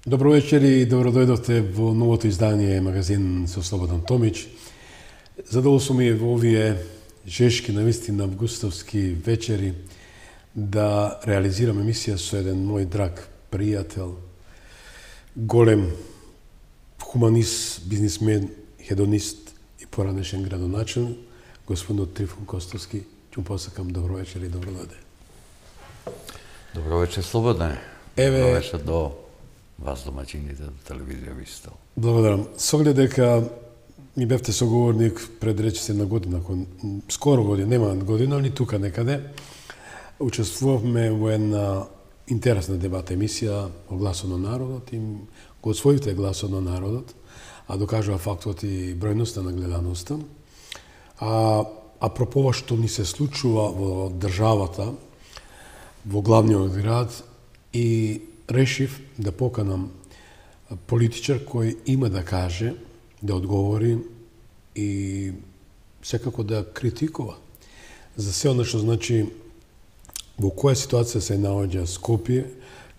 Добро вечер и добродојдовте во новото издание магазин со Слободан Томич. Задоволство ми е во овие жешки, навистина августовски вечери да реализирам емисија со еден мој драг пријател, голем хуманист, бизнисмен, хедонист и поранешен градоначелник, господин Трифун Костовски. Ќе му посакам добро вечер и добродојде. Добро вечер, Слободане. Добро вечер до вас, домаќините, до телевизија Вистел. Благодарам. С оглед дека ми бевте соговорник пред речиси на година, скоро година, нема година, ни тука некаде, учествувавме во една интересна дебата емисија о гласот на народот и го освоивте гласот на народот, а докажува фактот и бројноста на гледаноста. Апропо ова што ни се случува во државата, во главниот град, и решив да поканам политичар кој има да каже, да одговори и секако да критикува за се оно што значи во која ситуација се наоѓа Скопје,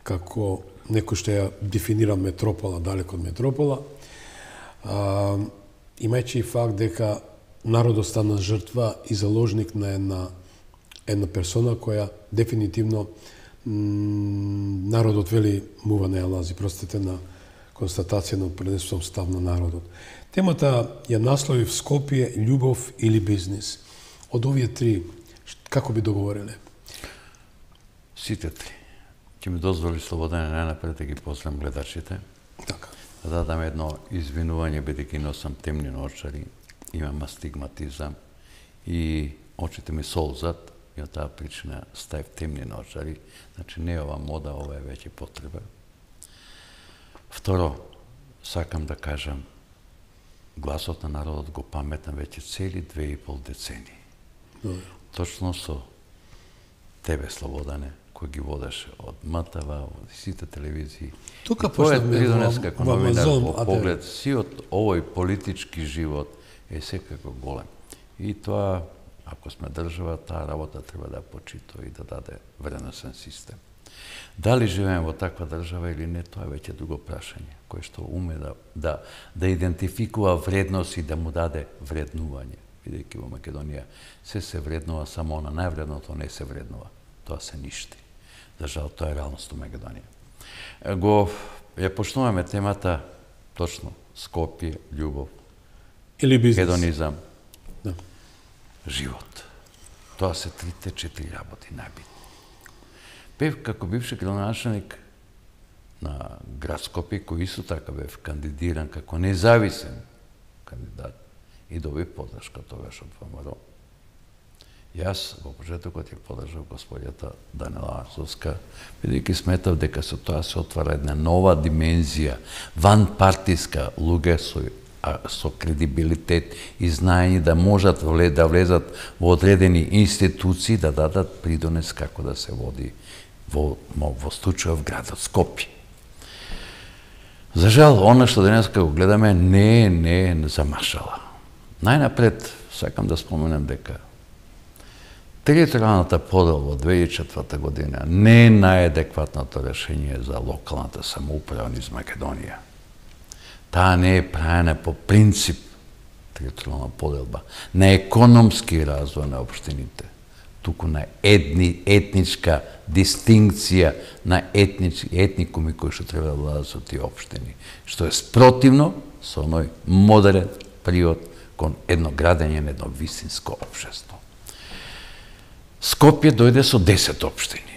како некој што ја дефинира метропола, далеко од метропола, имајќи и факт дека народот стана жртва и заложник на една персона која дефинитивно народот вели мува не ја лази, простите на констатација на пренесувам став на народот. Темата ја наслови в Скопје, љубов или бизнис. Од овие три, како би договориле? Сите три. Ќе ми дозволи Слободане најнапред да ги поздравам гледачите. Така. Да дадам едно извинување, бидејќи носам темни очари, имам астигматизам и очите ми солзат, и од таа причина ставив темни очари. Значи не е ова мода, ова е веќе потреба. Второ, сакам да кажам, гласот на народот го паметам веќе цели 2,5 децении. Точно со тебе, Слободане, кој ги водеше од МТВ, од сите телевизии. Тука почнавме како новинар во поглед, сиот овој политички живот е секако голем. И тоа, ако сме држава, таа работа треба да почитува и да даде вредносен систем. Дали живееме во таква држава или не, тоа е веќе друго прашање, кој што уме да идентификува вредност и да му даде вреднување. Бидејќи во Македонија се вреднува, само на највредното не се вреднува. Тоа се ништи. За жал, тоа е реалност во Македонија. Ја почнуваме темата точно Скопје, љубов, или бизнес. хедонизам, да. Живот. Тоа се трите 4 работи најбитни. Бев како бивши градоначелник на град Скопје, кој исто така бев кандидиран како независен кандидат и добив подршка тогаш од ВМРО. Јас во почетокот ја подржав господјата Данела Арзовска, бидејќи сметав дека со тоа се отвара една нова димензија, ванпартиска, луѓе со кредибилитет и знаење да можат да влезат во одредени институции, да дадат придонес како да се води во случајов градот Скопје. За жал, она што денеска го гледаме не е замашала. Најнапред сакам да споменам дека територијалната подела во 2004 година не е најадекватното решение за локалната самоуправа низ Македонија. Таа не е правена по принцип територијална поделба, на економски развој на општините, туку на етничка дистинкција на етникуми кои што треба да владат со тие општини, што е спротивно со оној модерен приод кон едно градење на едно вистинско општество. Скопје дојде со 10 општини.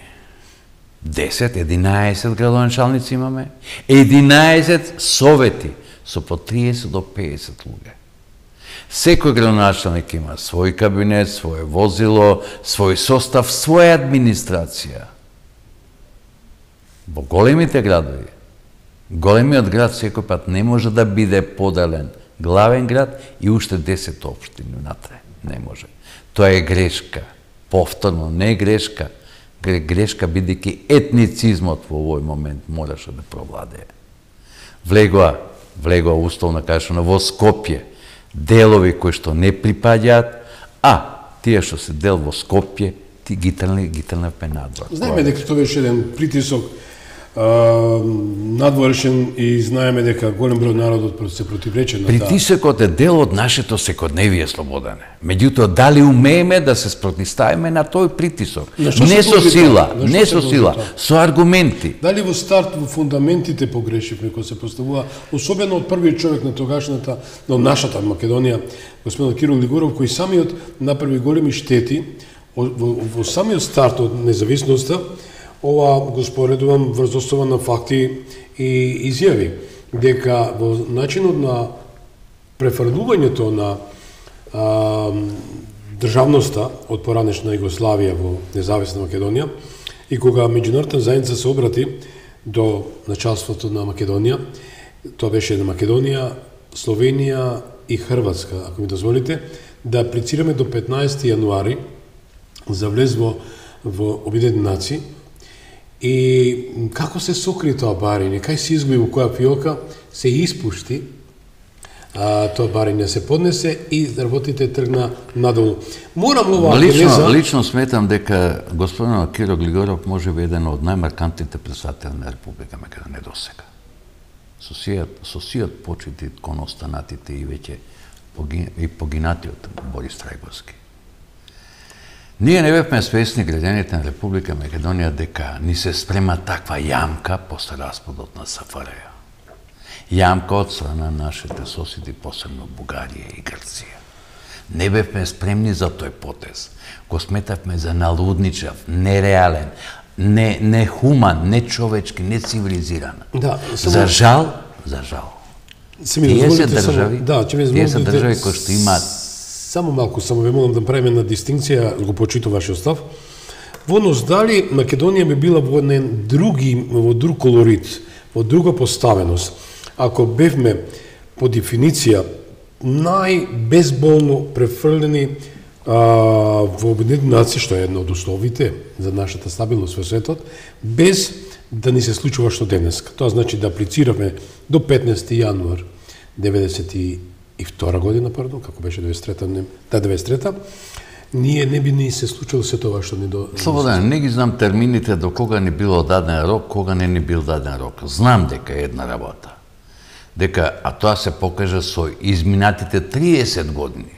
11 градоначалници имаме, 11 совети со по 30 до 50 луѓе. Секој градоначалник има свој кабинет, свое возило, свој состав, своја администрација. Во големите градови, големиот град секој пат не може да биде поделен главен град и уште 10 општини внатре. Не може. Тоа е грешка. Повторно, не грешка. Грешка бидејќи етницизмот во овој момент мораше да провладее. Влегоа условно кажано во Скопје делови кои што не припаѓаат, а тие што се дел во Скопје, ти ги трнавме надвор. Знаеме дека тоа беше еден притисок надворешен и знаеме дека голем број народот се противрече на таа. Притисокот е дел од нашето секојдневие, Слободане. Меѓутоа, дали умееме да се спротивставиме на тој притисок? Не со сила, не со сила, со аргументи. Дали во старт, во фундаментите погрешивме кога се поставува, особено од првиот човек на тогашната, на нашата Македонија, господин Киро Глигоров, кој самиот направи големи штети во самиот старт од независноста. Ова го споредувам врз основа на факти и изјави, дека во начинот на префрлувањето на државноста од поранешна Југославија во независна Македонија и кога меѓународната заедница се обрати до началството на Македонија, тоа беше на Македонија, Словенија и Хрватска, ако ми дозволите, да аплицираме до 15 јануари за влез во Обединените нации. И како се сокри тоа барење, кај се изгуби во која фиока, се испушти, тоа барење се поднесе и работите тргна надолу. Морам ова генеза... Лично сметам дека господин Киро Глигоров може би еден од најмаркантните председатели на Република Македонија досега. Со сиот почити кон останатите и веќе погинатиот Борис Трајковски. Ние не бевме свесни, граѓаните на Република Македонија, дека ни се спрема таква јамка после распадот на СФРЈ. Јамка од страна на нашите соседи, посебно Бугарија и Грција. Не бевме спремни за тој потез. Го сметавме за налудничав, нереален, нехуман, нечовечки, нецивилизиран. Да, За жал. Тие се држави кои што имаат. Само малку, само ве молам да правиме една дистинкција, го почитувам вашиот став. Во однос дали Македонија би била во друг колорит, во друга поставеност, ако бевме по дефиниција најбезболно префрлени во Обединените нации, што е една од условите за нашата стабилност во светот, без да ни се случува што денеска. Тоа значи да аплицираме до 15 јануар 92 година, како беше 93-та, ние не би ни се случило се тоа што ни до... Слободен, не ги знам термините до кога ни било даден рок, кога не ни бил даден рок. Знам дека е една работа. А тоа се покажа со изминатите 30 години.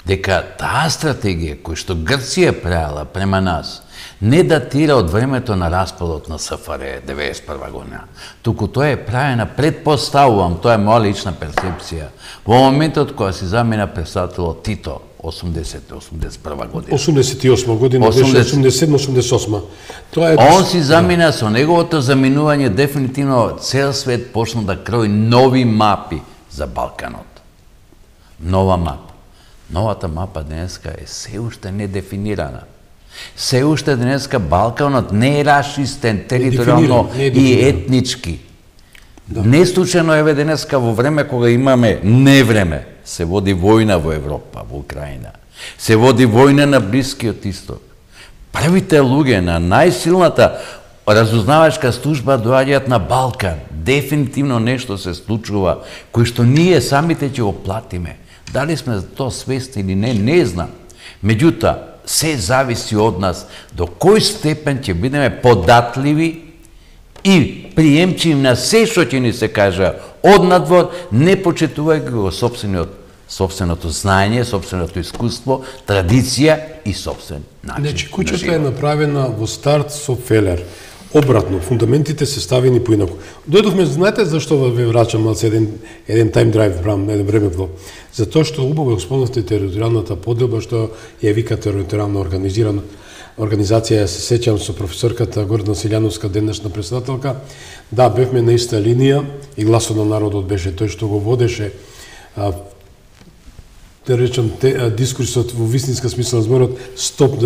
Дека таа стратегија која што Грција правила према нас не датира од времето на распадот на СФРЈ 91 година. Туку тоа е правена, предпоставувам, тоа е моја лична перцепција, во моментот кога си замена председателот Тито, 80-81 година. 88 година, беше 87-88. Он си замина со неговото заминување, дефинитивно цел свет почна да крои нови мапи за Балканот. Нова мапа. Новата мапа денеска е се уште недефинирана. Се уште денеска Балканот не е расчистен територијално и етнички. Не случајно еве денеска во време кога имаме невреме, се води војна во Европа, во Украина. Се води војна на Блискиот Исток. Првите луѓе на најсилната разузнавачка служба доаѓаат на Балкан. Дефинитивно нешто се случува, кој што ние самите ќе го платиме. Дали сме за тоа свесни или не знам. Меѓутоа, се зависи од нас до кој степен ќе бидеме податливи и приемчиви на се што ќе ни се кажа од надвор, не почитувајќи го сопственото знаење, сопственото искуство, традиција и сопствен начин. Значи, куќата е направена во старт со фелер. Обратно, фундаментите се ставени поинаку. Дојдовме, знаете зашто ве врачам малце еден тайм драйв, еден времепло? Затоа што убаво спомнавте територијалната поделба, што ја вика територијална организација, се сеќам со професорката Гордана Силјановска, денешна председателка. Да, бевме на иста линија и гласот на народот беше тој што го водеше, да речам, дискурсот во вистинска смисла на зборот, стоп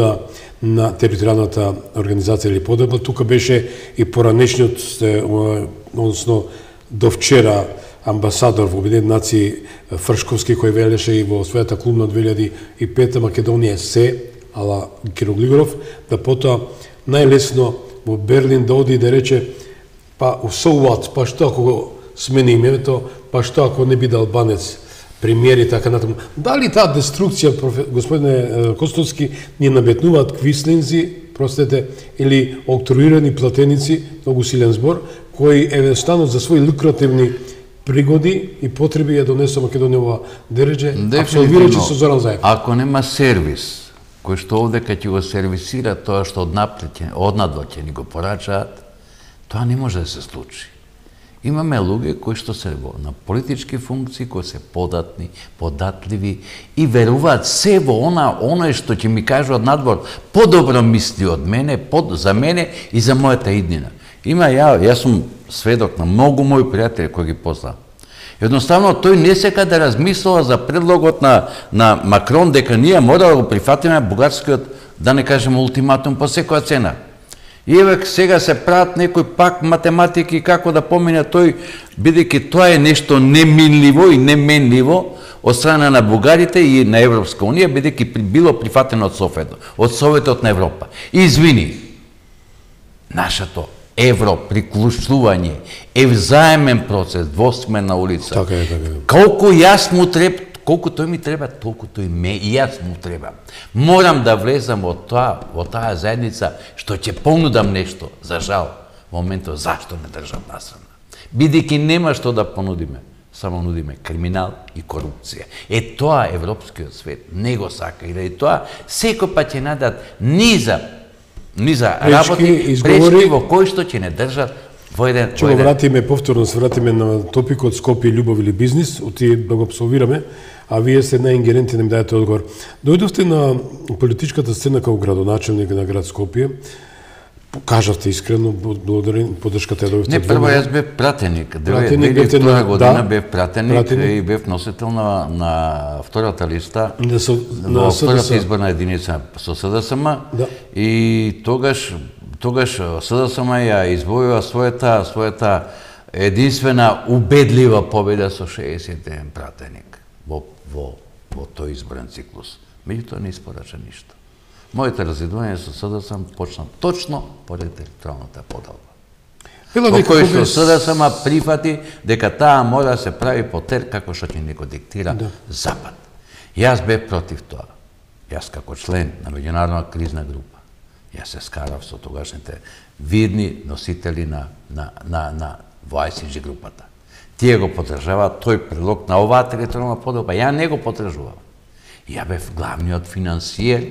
на територијалната организација или поделба. Тука беше и поранешниот, односно до вчера, амбасадор во Обединените нации Фршковски, кој велеше и во својата клубна 2005 Македонија се, ала Киро Глигоров, да потоа најлесно во Берлин да оди и да рече па so what, па што ако го смени името, па што ако не биде албанец премиер и така натаму. Дали таа деструкција, господине Костовски, ни наметнуваат квислинзи простете, или октруирани платеници, многу силен збор, кои едноставно за своји лукративни пригоди и потреби ја донесува Македонија ова дередже, апсолвирајќи со Зоран Заев. Ако нема сервис, кој што овде кога ќе го сервисира тоа што однадвор ќе ни го порачаат, тоа не може да се случи. Имаме луѓе кои што се на политички функции, кои се податни, податливи и веруваат се во оној што ќе ми кажуваат надвор, подобро мисли од мене, за мене и за мојата иднина. Јас сум сведок на многу мои пријатели кои ги познавам. Едноставно, тој не сека да размислува за предлогот на Макрон дека ние мора да го прифатиме бугарскиот, да не кажем, ултиматум по секоја цена. И еве сега се прават некои пак математики како да помине тој, бидејќи тоа е нешто неминливо и неменливо од страна на бугарите и на Европска унија, бидејќи било прифатено од Советот на Европа. Извини, нашето европриклучување е взаемен процес, двосмерна улица. Така е. Колку јас му треба, колку тој ми треба, толку тој и јас му треба. Морам да влезам во таа заедница што ќе понудам нешто. За жал, во моментот зашто не држат насрана? Бидејќи нема што да понудиме, само нудиме криминал и корупција. Тоа европскиот свет не го сака и тоа секој пат ќе надат низа работи, пречки во кои што ќе не држат во еден... Ќе го вратиме, повторно се вратиме на топикот Скопје, љубов или бизнис, да го абсолвираме, а вие сте наингеренти да ми дадете одговор. Дојдовте на политичката сцена како градоначелник на град Скопје, кажавте искрено, благодарен, поддршката ја добивте. Не, прво јас бев пратеник. 2002 година бев пратеник и бев носител на втората листа, на втората изборна единица со СДСМ и тогаш СДСМ ја избојува својата единствена убедлива победа со 61 пратеник во тој изборен циклус. Меѓутоа не испорача ништо. Моите разидување со СДСМ почна точно поред електоралната подалба. Во кој што СДСМ прифати дека таа мора да се прави по тер како што ќе ни го диктира Запад. Јас бев против тоа. Јас како член на меѓународна кризна група, јас се скарав со тогашните видни носители на во ICG групата. Тие го поддржаваат тој предлог на оваа територијална подалба. Ја не го поддржував. Ја бев главниот финансиер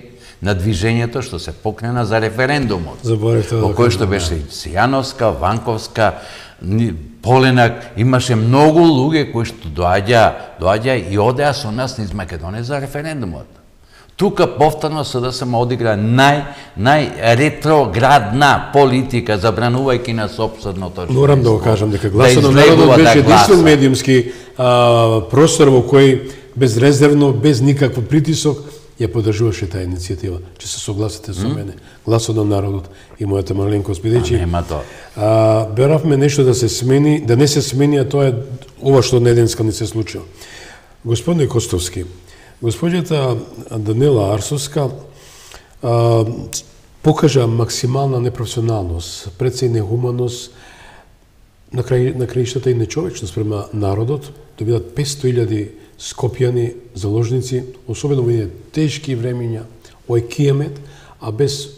на движењето што се покрена за референдумот. Во кој што беше Сијановска, Ванковска, Поленак, имаше многу луѓе кои што доаѓа и одеа со нас низ Македонија за референдумот. Тука повторно СДСМ одигра најретроградна политика, забранувајќи на сопственото. Морам да го кажам дека Гласот на народот беше единствен медиумски простор во кој безрезервно, без никаков притисок, ја поддржуваше таа иницијатива. Че се согласите со мене. Гласот на народот и мојата маленкост, бидејќи беравме нешто да се смени, да не се смени, а тоа е ова што неденска не се случува. Господине Костовски, госпоѓата Данела Арсовска покажа максимална непрофесионалност, пред се и нехуманост, на краиштата и нечовечност према народот, да бидат 500.000 скопјани заложници, особено во едни тешки времења, ој кијамет, а без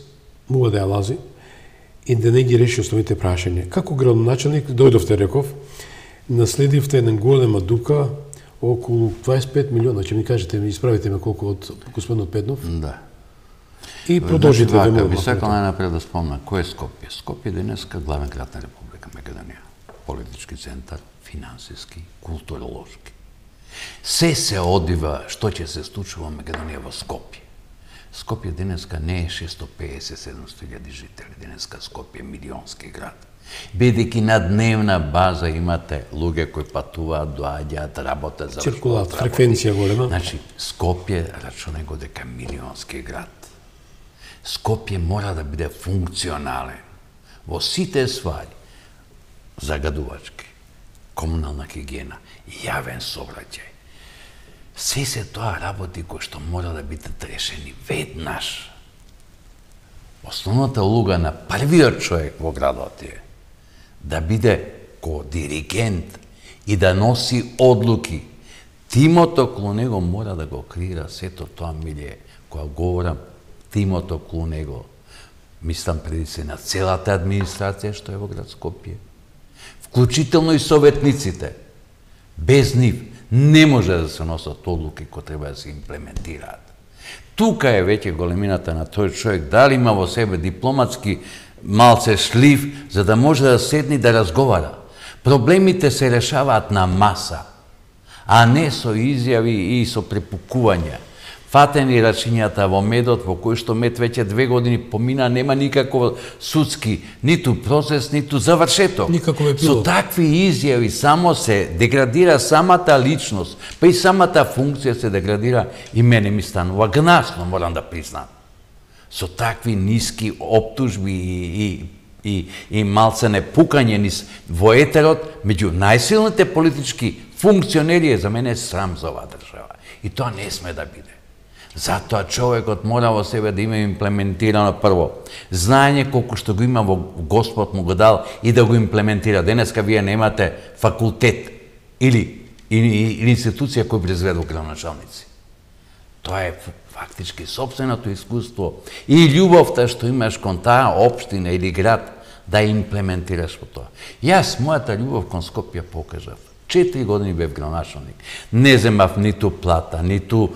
мува да ја лази и да не ги реши основните прашања. Како градоначелник дојдовте, реков, наследивте една голема дука, околу 25 милиона, ќе ми кажете, ми исправите ме колку од господинот Педнов. Да. И продолжите да му. Би сакал најнапред да спомна, кој е Скопје? Скопје денеска главен град на Република Македонија. Политички центар, финансиски, културолошки. Се одива што ќе се случува во Македонија во Скопје. Скопје денеска не е 650-700.000 жители, денеска Скопје е милионски град. Бидејќи на дневна база имате луѓе кои патуваат, доаѓаат, работат, циркулат, фреквенција голема. Значи, Скопје рачунај го дека милионски град. Скопје мора да биде функционален во сите ствари, загадувачки, комунална хигиена, јавен сообраќај. Се тоа работи кои што мора да бидат решени веднаш. Основната улога на првиот човек во градот е да биде ко диригент и да носи одлуки. Тимото околу него мора да го креира сето тоа милие. Кога говорам тимото околу него, мислам преди се на целата администрација што е во град Скопје, вклучително и советниците. Без нив не може да се носат одлуки кои треба да се имплементираат. Тука е веќе големината на тој човек, дали има во себе дипломатски малце шлив, за да може да седне да разговара. Проблемите се решаваат на маса, а не со изјави и со препукувања. Фатени рачињата во медот, во кој што мед веќе 2 години помина, нема никаков судски, ниту процес, ниту завршеток. Никаков епилог. Со такви изјави само се деградира самата личност, па и самата функција се деградира, и мене ми станува гнасно, морам да признам. Со такви ниски оптужби и малце непукање низ во етерот, меѓу најсилните политички функционери е за мене срам за оваа држава. И тоа не сме да биде. Затоа човекот мора во себе да има имплементирано прво знаење колку што го има во Господ му го дал и да го имплементира. Денеска вие немате факултет или институција кој произведува градоначалници. Тоа е фактички сопственото искуство и љубовта што имаш кон таа општина или град да имплементираш во тоа. Јас мојата љубов кон Скопје покажав. 4 години бев градоначалник. Не земав ниту плата, ниту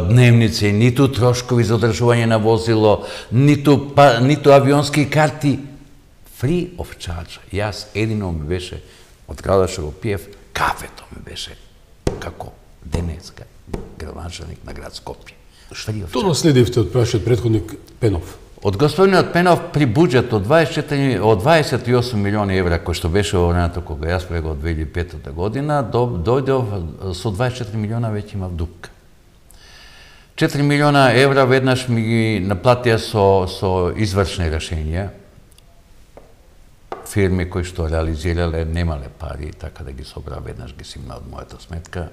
дневници, ниту трошкови за одржување на возило, ниту авионски карти. Free of charge. Јас едино ми беше, од градот што го пиев, кафето ми беше, како денеска, градоначалник на град Скопје. Што наследивте од прашиот претходник Пенов? Од господинот Пенов при буџет од 28 милиони евра, кој што беше во времето кога јас прего од 2005 година, дојдов со 24 милиона веќе имав дупка. 4 милиона евра веднаш ми ги наплатија со извршни решенија. Фирми кои што реализирале немале пари, така да ги собра веднаш ги симна од мојата сметка.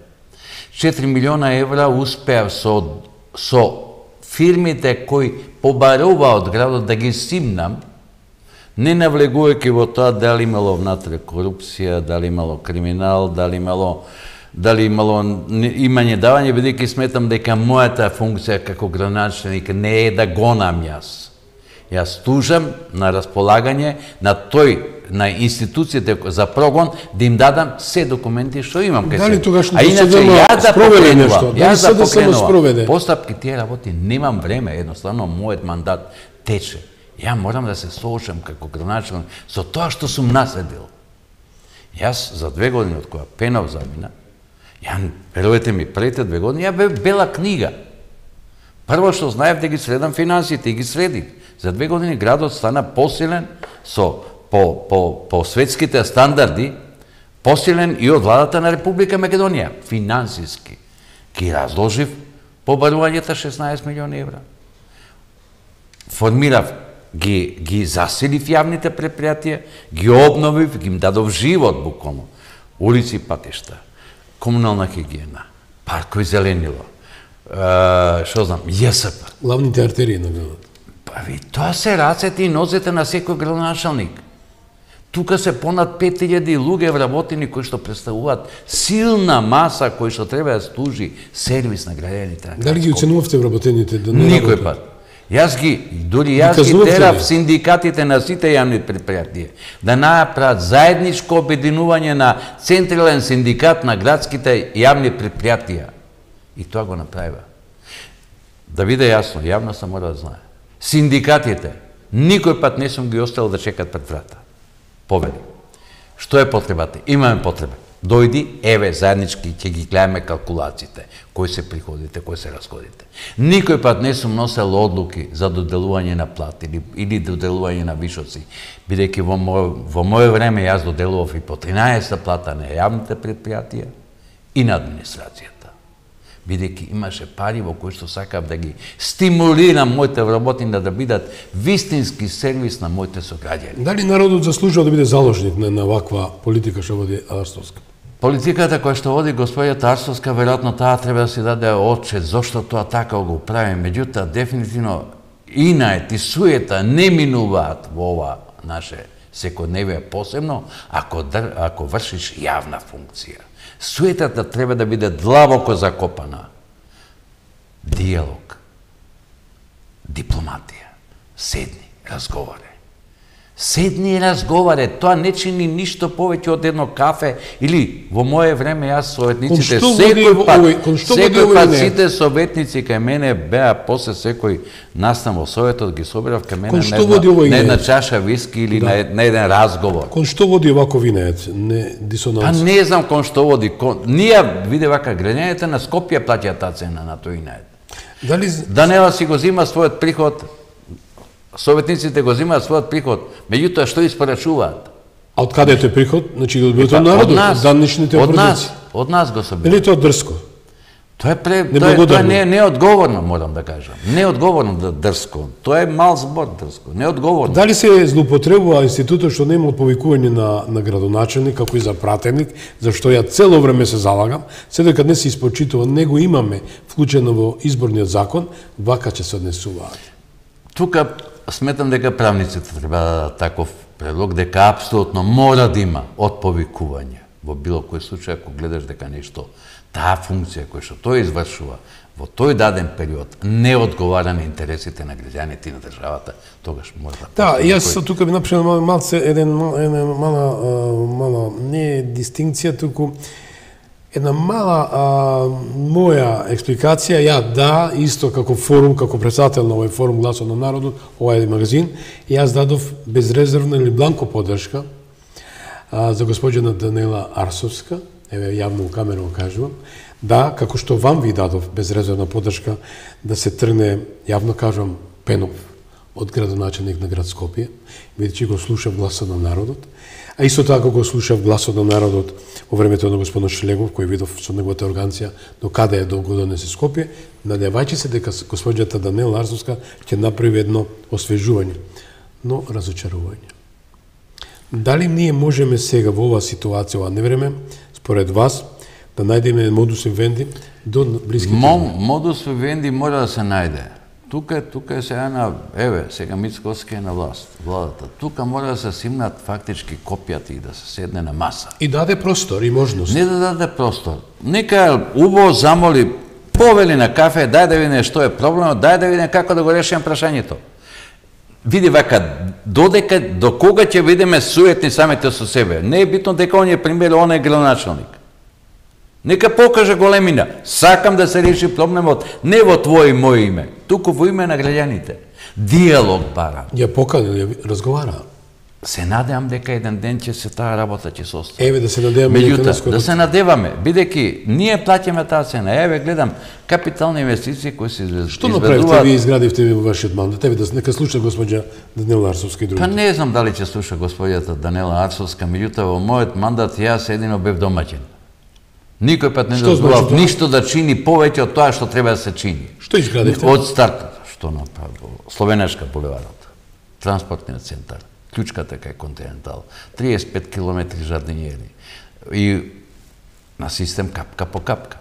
4 милиона евра успеав со фирмите кои побарува од градот да ги симнам, не навлегувајќи во тоа дали имало внатре корупција, дали имало криминал, дали имало имање давање, бидејќи сметам дека мојата функција како градоначалник не е да гонам јас. Јас тужам на располагање на институциите за прогон да им дадам се документи што имам кај себе. Дали тогашното СДМ спроведе нешто? Дали СДМ само спроведе? Постапки тие работи немам време, едноставно мојот мандат тече. Ја морам да се соочам како градоначалник со тоа што сум наследил. Јас за 2 години од кога Пенов замина, верувате ми, првите 2 години ја бев бела книга. Прво што знаев да ги следам финансите и ги следив. За 2 години градот стана посилен по светските стандарди, посилен и од владата на Република Македонија, финансиски. Ги разложив побарувањата 16 милиони евра. Формирав, ги засилив јавните предпријатија, ги обновив, ги им дадов живот буквално. Улици, патишта, комунална хигиена, паркови зеленило, што знам, ЈСП. Главните артерии на градот. Тоа се рацете и нозете на секој градоначалник. Тука се понад 5000 луѓе вработени кои што представуваат силна маса кои што треба да служи сервис на граѓаните. Дали ги оценувавте вработените да не никој пат. Јас ги терав синдикатите на сите јавни предпријатија да направат заедничко обединување на централен синдикат на градските јавни предпријатија. И тоа го направива. Да биде јасно, јавноста мора да знае. Синдикатите, никој пат не сум ги оставил да чекат пред врата. Повели. Што е потребата? Имаме потреба. Дојди, еве, заеднички ќе ги гледаме калкулациите, кои се приходите, кои се расходите. Никој пат не сум носел одлуки за доделување на плати или доделување на вишоци, бидејќи во моје време јас доделував и по 13 плата на јавните предпријатија и на администрацијата. Бидејќи имаше пари во кои што сакав да ги стимулирам моите вработени да бидат вистински сервис на моите сограѓани. Дали народот заслужува да биде заложник на ваква политика што води Арстовска? Политиката која што води господјата Арстовска, веројатно таа треба да си даде отчет зошто тоа така го прави. Меѓутоа, дефинитивно, инает и суета не минуваат во ова наше секојдневие, посебно ако вршиш јавна функција. Суетата треба да биде длабоко закопана. Диалог, дипломатија, Седни, разговарај. Седни и разговарај, тоа не чини ништо повеќе од едно кафе или во мое време јас советниците секој пат сите советници кај мене беа после секој настан во советот ги собирав кај мене на една чаша виски или на еден разговор. Кон што води овако винеец? Не дисонанс. Па не знам кон што води. Ние виде вака граѓаните на Скопје плаќаат таа цена на тој винеец. Дали Данела си го зима својот приход, советниците го зимаат својот приход, меѓутоа што испорачуваат? А од каде е тој приход? Значи го од народот, данишните опорници. Од нас го собира. Или тоа дрско? Тоа не е неодговорно, морам да кажам. Неодговорно дрско. Тоа е мал збор дрско. Неодговорно. Дали се злоупотребува институтот што нема повикување на градоначелник како и за пратеник, за што ја цело време се залагам, се дека не се испочитува, него имаме вклучено во изборниот закон, вака ќе се однесуваат. Тука сметам дека правниците треба да дадат таков предлог, дека апсолутно мора да има од повикување. Во било кој случај, ако гледаш дека нешто, таа функција која што тој извршува во тој даден период не одговара на интересите на граѓаните и на државата, тогаш мора да... Да, јас тука би направил малце една мала не дистинкција, туку една мала моја експликација. Ја исто како форум, како председател на овој форум Гласот на народот, овој магазин, јас дадов безрезервна или бланко поддршка за госпоđена Данела Арсовска, еве јавно у камеру кажувам, да, како што вам ви дадов безрезервна поддршка да се тргне, јавно кажувам, Пенов од градоначелник на град Скопје, бидејќи го слушав Гласот на народот, а исто така го слушав Гласот на народот во времето на господин Шлегов, кој видов со неговата органција до каде е долго донесе Скопје, надевајќи се дека госпоđата Данела Арсовска ќе направи едно освежување, но разочарување. Дали ние можеме сега во оваа ситуација, ова невреме, според вас, да најдеме модус вивенди до блиските? Модус вивенди мора да се најде. Тука е сега сега Мицковски е на владата. Тука мора да се симнат фактички копијата и да се седне на маса. И даде простор и можност. Не да даде простор. Нека убаво замоли, повели на кафе, дај да видиме што е проблемот, дај да видиме како да го решиме прашањето. Види вака, до кога ќе видиме суетни самите со себе. Не е битно дека он е пример, он е градоначелник. Нека покаже големина. Сакам да се реши проблемот не во твое и моје име, туку во име на граѓаните. Диалог бара. Ја поканил, ја разговара. Се надевам дека еден ден ќе се таа работа ќе се остави. Еве да се надеваме. Меѓутоа, да се надеваме, бидејќи ние плаќаме таа цена. Еве гледам капитални инвестиции кои се изведуваат. Што направивте ви изградивте во вашиот мандат? Еве да нека слуша госпоѓа Данела Арсовска и другите. Па не знам дали ќе слуша госпоѓата Данела Арсовска, меѓутоа во мојот мандат јас едино бев домаќин. Никој пат не дозволав ништо да чини повеќе од тоа што треба да се чини. Што изградивте? Од старт, што направил? Словенешка булеварот, транспортниот центар, клучката кај Континентал, 35 километри жардинјери и на систем капка по капка.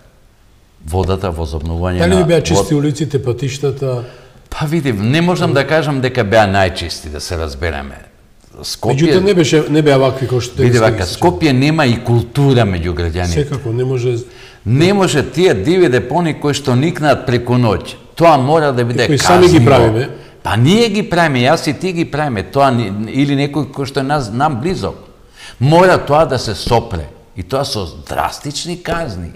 Водата, возобновување на... Дали ви беа чисти улиците, патиштата? Па види, не можам да кажам дека беа најчисти, да се разбереме. Скопје... Меѓутоа не беа вакви кои што... Види вака, Скопје нема и култура меѓу граѓаните. Секако, не може... Не може тие диви депони кои што никнат преку ноќ. Тоа мора да биде казниво. Кои сами ги правиме? Па ние ги правиме, јас и ти ги правиме. Тоа или некој кој што е нам близок. Мора тоа да се сопре. И тоа со драстични казни.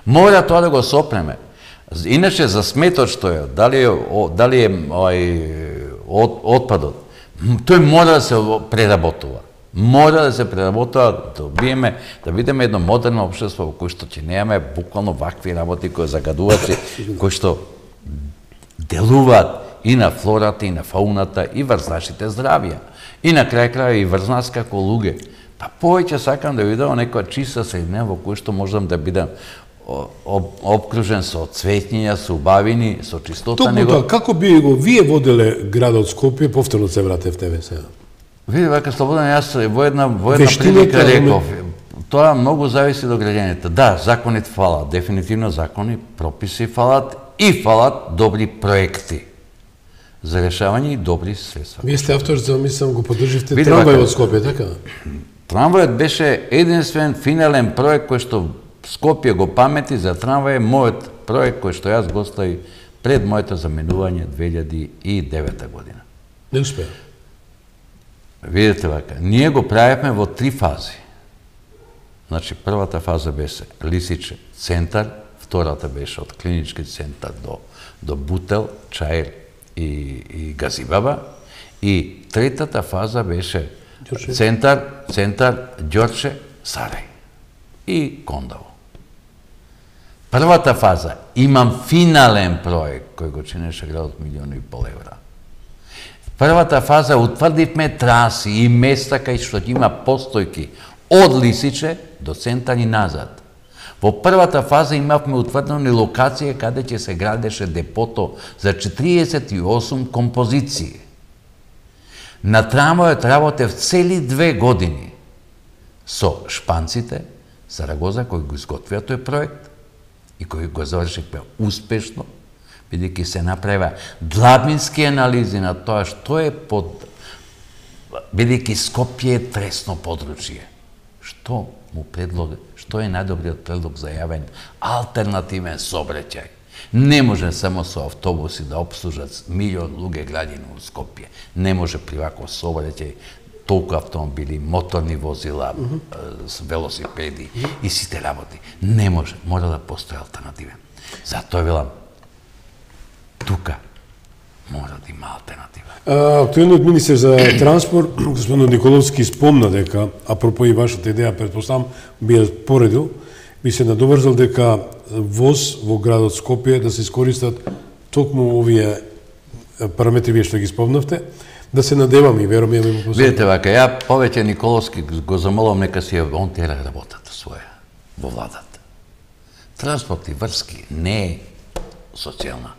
Мора тоа да го сопреме. Иначе за сметот што е, дали е отпадот, тој мора да се преработува. Мора да се преработува, да видиме едно модерно општество во кој што ќе немаме буквално вакви работи кои загадувачи, кои што делуваат и на флората, и на фауната, и врз нашите здравија. И на крај и врз нас како луѓе. Па повеќе сакам да видам некоја чиста средина во кој што можам да бидам обкружен со цветња, со убавини, со чистота. Токму тоа, како би го вие воделе градот Скопје, повторно се вратев тебе сега? Види, вака Слободан, јас во една прилика реков, тоа многу зависи до граѓаните. Да, законите фалат, дефинитивно закони, прописи фалат и фалат добри проекти за решавање и добри средства. Вие сте автор за, мислам, го поддрживте трамвај од Скопје, така? Трамвајот беше единствен финален проект кој што Скопје го памети за трамвај, мојот проект кој што јас го остави пред моето заменување 2009 година. Не успеа. Видите вака, ние го правевме во 3 фази. Значи, првата фаза беше Лисиче центар, втората беше од клинички центар до Бутел, Чаир и Газибаба, и третата фаза беше центар Ѓорче, Сарај и Кондово. Првата фаза, имам финален проект кој го чинеше градот $1,5 милиона. Првата фаза утврдивме траси и места кај што има постојки од Лисиче до центар и назад. Во првата фаза имавме утврдени локација каде ќе се градеше депото за 48 композиции. На трамвајот работев цели 2 години со шпанците, Сарагоза, кои го изготвија тој проект и кои го завршивме успешно, бидејќи се направи длабински анализи на тоа што е бидејќи Скопје е тресно подручје. Што е најдобриот предлог за јавен алтернативен сообраќај? Не може само со автобуси да обслужат 1 милион луѓе граѓани во Скопје. Не може при ваков сообраќај толку автомобили, моторни возила, велосипеди и сите работи. Не може, мора да постои алтернативен. Затоа велам, тука мора да има алтернатива. Актуелниот министер за транспорт, господин Николовски, спомна дека, апропо и вашата идеја, предпоставам, би ја поредил, би се надоврзал дека воз во градот Скопје да се искористат токму овие параметри вие што ги спомнавте, да се надеваме и веруваме во посока. Видите вака, ја повеќе Николовски го замолам нека си он тера работата своја во владата. Транспорт и врски не е социјална,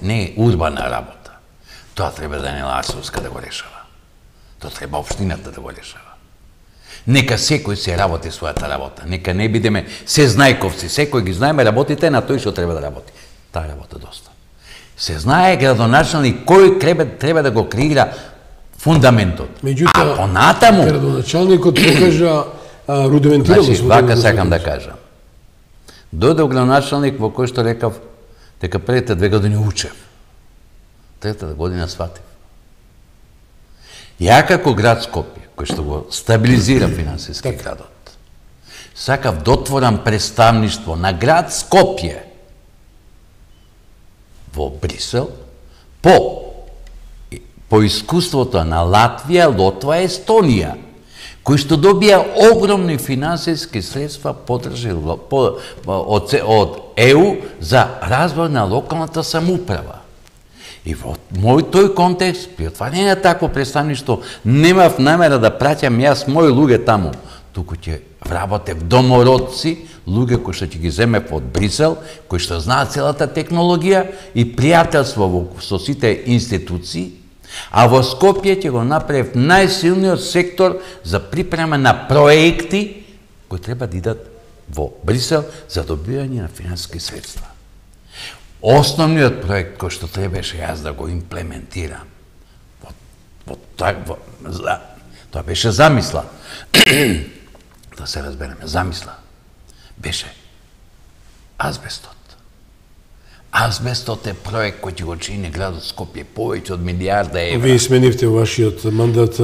не е урбана работа. Тоа треба да не Ларсовска да го решава. Тоа треба општината да го решава. Нека секој се работи својата работа. Нека не бидеме се знајковци. Секој ги знаеме работите на тој што треба да работи. Таа работа доста. Се знае градоначалник кој треба да го креира фундаментот. Меѓутоа, понатаму градоначалникот покажа рудиментирано. Значи, вака сакам да кажам. Дојде градоначалник во кој што рекав дека првите 2 години учев. Третата година сватив. Ја како град Скопје, кој што го стабилизира финансиски градот, сакав да отворам представништво на град Скопје во Брисел по искуството на Латвија, Лотва, Естонија, кои што добија огромни финансиски средства подржи од ЕУ за развој на локалната самоуправа. И во тој контекст, при отварање на такво представништво, немав намера да праќам јас мои луѓе таму, туку ќе вработев домородци, луѓе кои што ќе ги земев од Брисел, кои што знаат целата технологија и пријателство со сите институции, а во Скопје ќе го направив најсилниот сектор за припрема на проекти кои треба да идат во Брисел за добивање на финансиски средства. Основниот проект кој што требаше јас да го имплементирам, тоа беше замисла, да се разбереме, замисла, беше азбестот. Азбестот е проект кој ќе го чини градот Скопје повеќе од милијарда евра. Вие сменивте вашиот мандат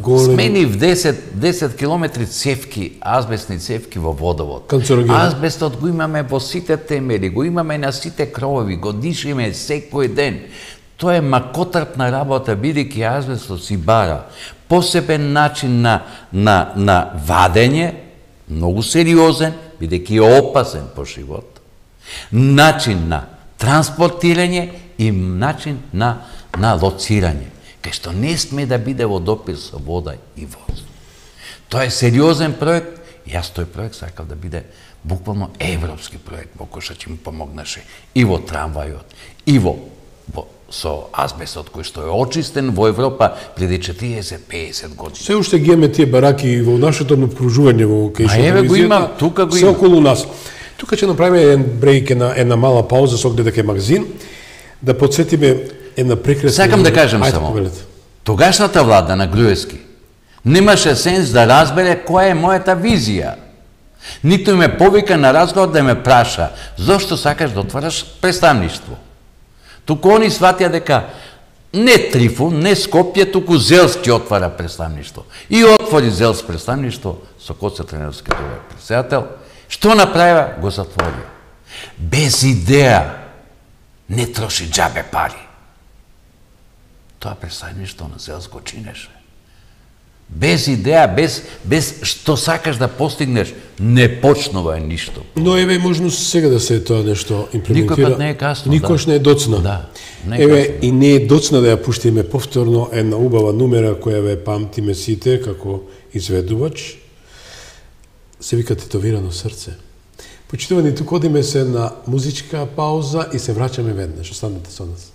голем. Сменив 10 километри цевки, азбестни цевки во водовод. Канцерогени. Азбестот го имаме во сите темели, го имаме на сите кровови, го дишиме секој ден. Тоа е макотрпна работа, бидејќи азбестот си бара посебен начин на вадење, многу сериозен, бидејќи е опасен по живот, начин на транспортирање и начин на лоцирање, кај што не сме да биде во допир со вода и воздух. Тоа е сериозен проект и јас тој проект сакав да биде буквално европски проект, во кој што ќе ми помогнеше и во трамвајот, и со азбестот кој што е очистен во Европа преди 40-50 години. Се уште ги имаме тие бараки во нашето обкружување во кај што еве го имам, тука го се околу нас. Тука ќе направиме еден брейк, една мала пауза со оглед дека е магазин, да подсетиме една прекрасна... Сакам да кажам само, тогашната влада на Груевски немаше сенс да разбере која е мојата визија. Ниту ме повика на разговор да ме праша, зошто сакаш да отвараш представништво? Туку они сватија дека не Трифун, не Скопје, туку Зелски отвара представништво. И отвори Зелс представништво со Коце Тренерски тој председател. Што направија? Го затворија. Без идеја, не троши џабе пари. Тоа представништво на Зелс го чинеше. Без идеја, без што сакаш да постигнеш, не почнува ништо. Но еве можност сега да се тоа нешто имплементира. Никогаш не е касно. Никогаш не е доцна. Да. Еве и не е доцна да ја пуштиме повторно една убава numera која ве памтиме сите како изведувач. Се вика Тетовирано срце. Почитувани, туку одиме се на музичка пауза и се враќаме веднаш. Останете со нас.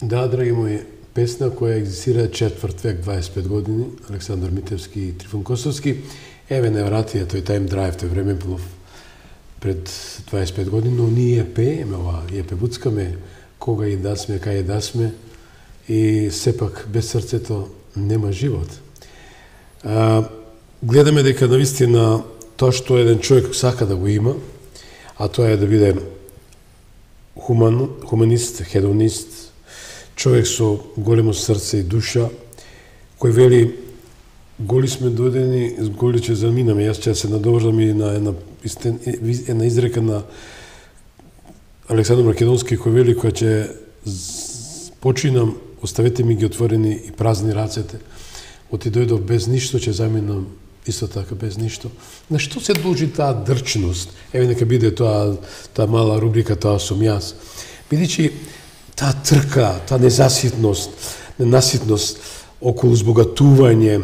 Да, драги мои, песна која екзистира четврт век, 25 години, Александар Митевски и Трифун Косовски. Еве невратија тој Time Drive, тој времеплов пред 25 години, но ние пееме ова, ја певуцкаме кога и да сме, кај да сме, и сепак без срцето нема живот. Гледаме дека навистина тоа што еден човек сака да го има, а тоа е да биде хуманист, хедонист, човек со големо срце и душа, кој вели голи сме дојдени, голи ќе заминаме. Јас ќе се надоврзам и на една изрека на Александар Македонски, кој вели која ќе починам, оставете ми ги отворени и празни рацете. Оти дојдов без ништо, ќе заминам исто така без ништо. На што се должи таа дрчност? Еве нека биде таа мала рубрика, тоа сум јас. Бидејќи таа трка, таа ненаситност околу збогатување,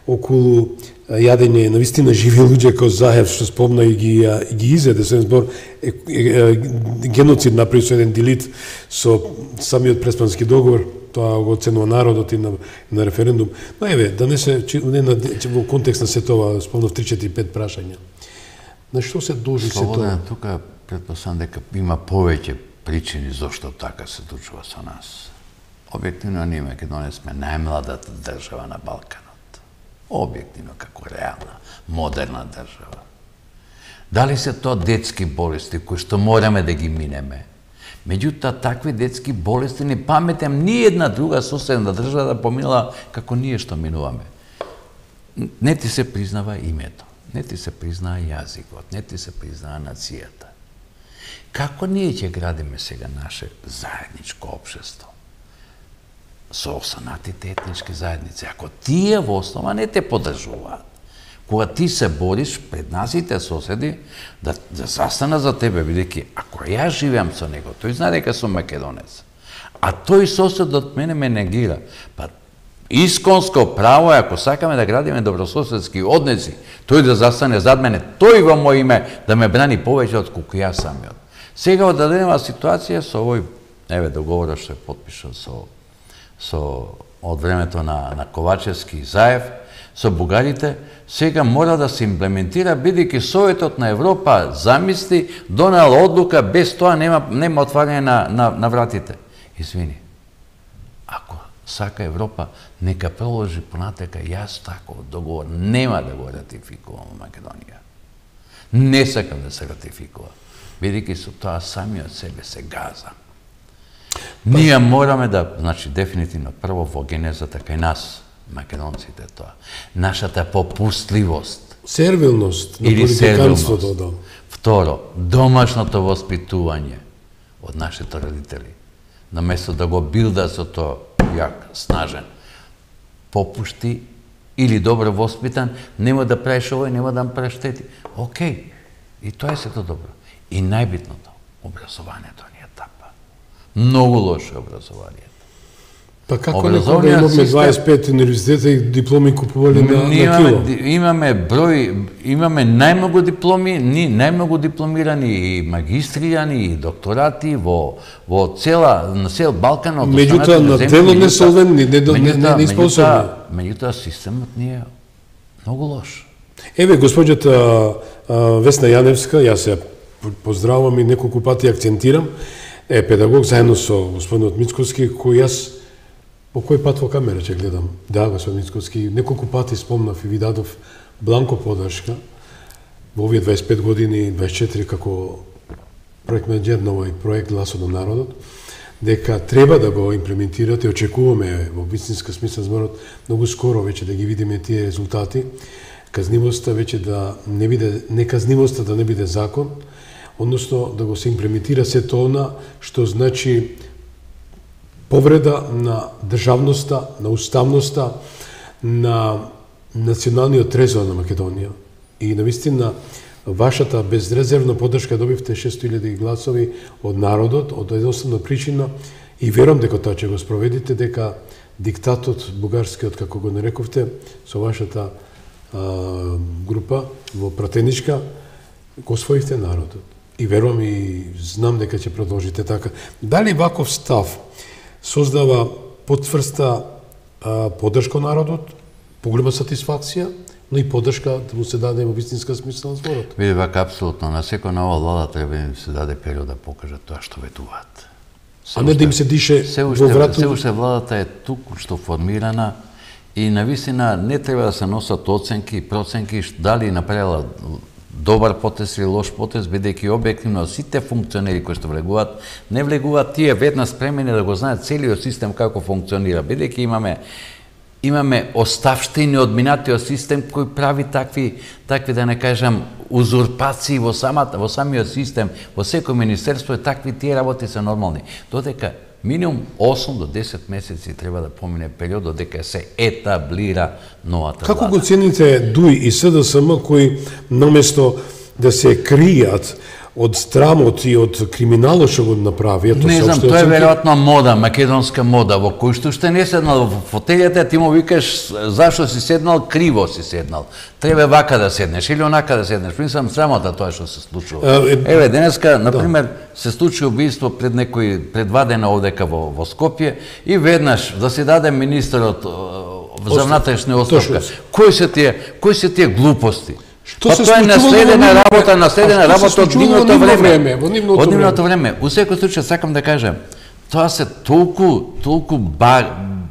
околу јадење, навистина живи луѓе како Заев, што спомна и ги изеде, со збор геноцид направи со еден делит со самиот Преспански договор, тоа го оценува народот и на референдум. Но еве, да не се во контекст на се тоа, спомнав 3-4-5 прашања. На што се должи се тоа? Тука претпоставам дека има повеќе причини зошто така се случува со нас. Објективно ние Македонија сме најмладата држава на Балканот. Објективно како реална, модерна држава. Дали се тоа детски болести кои што мораме да ги минеме? Меѓутоа, такви детски болести не паметам ни една друга соседна држава да поминала како ние што минуваме. Не ти се признава името, не ти се признава јазикот, не ти се признава нацијата. Како ние ќе градиме сега наше заедничко општество? Со останатите етнички заедници, ако тие во основа не те поддржуваат, кога ти се бориш пред насите соседи да застана за тебе, бидејќи ако ја живеам со него, тој знае дека сум македонец, а тој сосед од мене ме негира, па исконско право е, ако сакаме да градиме добрососедски односи, тој да застане зад мене, тој во моје име да ме брани повеќе од колку јас самиот. Сега од даденева ситуација со овој договорот што е потпишан од времето на Ковачевски и Заев, со бугарите, сега мора да се имплементира, бидејќи Советот на Европа замисли, донел одлука, без тоа нема отварање на вратите. Извини, ако сака Европа, нека проложи понатека, јас таков договор нема да го ратификувам во Македонија. Не сакам да се ратификува, бидејќи со тоа самиот себе се газа. Ние мораме да, значи, дефинитивно, прво во генезата кај нас, македонците тоа, нашата попустливост. Сервилност на политиканството, да. Второ, домашното воспитување од нашите родители. Наместо да го билда со тоа јак, снажен, попушти или добро воспитан, нема да правиш овој, нема да правиш тети. Океј, и тоа е сето добро. И најбитното, образованието ни е тапа. Многу лошо образованието. Па како некога имаме 25 универзитета и дипломи купували на кило? Имаме најмногу дипломи, најмногу дипломирани и магистријани и докторати во цел Балкан. Меѓутоа на дело не солвенни, не способни. Меѓутоа системот ни е многу лош. Еве госпоѓата Весна Јаневска, јас ја поздравувам и неколку пати акцентирам, е педагог заедно со господинот Мицковски, кој јас по кој пат во камера ќе гледам. Да, господин Мицковски, неколку пати спомнав и ви дадов бланко поддршка во овие 25 години, 24 како проект менеджер на овој проект Гласот на народот, дека треба да го имплементирате, очекуваме во вистинска смисла зборот многу скоро веќе да ги видиме тие резултати, казнивоста веќе да не биде, неказнивоста да не биде закон, односно да го се имплементира сето она што значи повреда на државноста, на уставноста, на националниот трезор на Македонија. И навистина вашата безрезервна поддршка добивте 600.000 гласови од народот, од едноставна причина, и верувам дека тоа ќе го спроведите, дека диктатот бугарскиот, како го нарековте, со вашата група во пратеничка, го освоивте народот. И верувам и знам дека ќе продолжите така. Дали ваков став создава потврста поддршка народот, поголема сатисфакција, но и поддршка да му се даде во вистинска смисла на зборот? Види вака, апсолутно. На секој нова влада треба да им се даде период да покажат тоа што ветуваат. А не да им се дише во вратот? Се уште владата е туку што формирана и навистина не треба да се носат оценки и проценки дали направила добар потез или лош потез, бидејќи објективно сите функционери кои што влегуваат, не влегуваат тие веднаш спремени да го знаат целиот систем како функционира, бидејќи имаме оставштини од минатиот систем кој прави такви да не кажам узурпации во самиот систем, во секој министерство и такви тие работи се нормални. Додека минимум 8 до 10 месеци треба да помине период додека се етаблира новата влада. Како го цените ДУИ и СДСМ кои наместо да се кријат од страмот и од криминалот што го направи? Не знам, тоа е веројатно мода, македонска мода, во кој што не седнал во фотелјата, ти му викаш зашто си седнал, криво си седнал. Треба вака да седнеш или онака да седнеш. Мислам срамота тоа што се случува. Еве, денеска, например, се случи убиство пред 2 дена овдека во Скопје и веднаш да се даде министерот за внатрешна оставка. Кои се тие глупости? Тоа е наследена работа од нивното време. Од нивното време. У секој случај сакам да кажам, тоа се толку